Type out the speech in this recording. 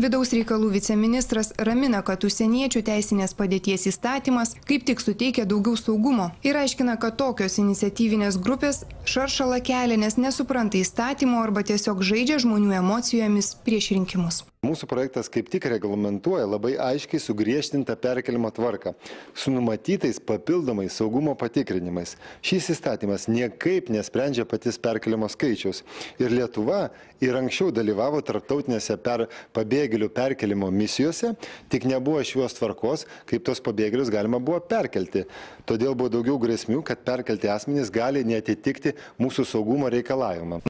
Vidaus reikalų viceministras ramina, kad užsieniečių teisinės padėties įstatymas kaip tik suteikia daugiau saugumo ir aiškina, kad tokios iniciatyvinės grupės šaršalą kelia, nes nesupranta įstatymo arba tiesiog žaidžia žmonių emocijomis prieš rinkimus. Mūsų projektas kaip tik reglamentuoja labai aiškiai sugriežtintą perkelimo tvarką su numatytais papildomais saugumo patikrinimais. Šis įstatymas niekaip nesprendžia patys perkelimo skaičiaus. Ir Lietuva ir anksčiau dalyvavo tarptautinėse pabėgėlių perkelimo misijose, tik nebuvo šios tvarkos, kaip tos pabėgėlius galima buvo perkelti. Todėl buvo daugiau grėsmių, kad perkelti asmenys gali neatitikti mūsų saugumo reikalavimą.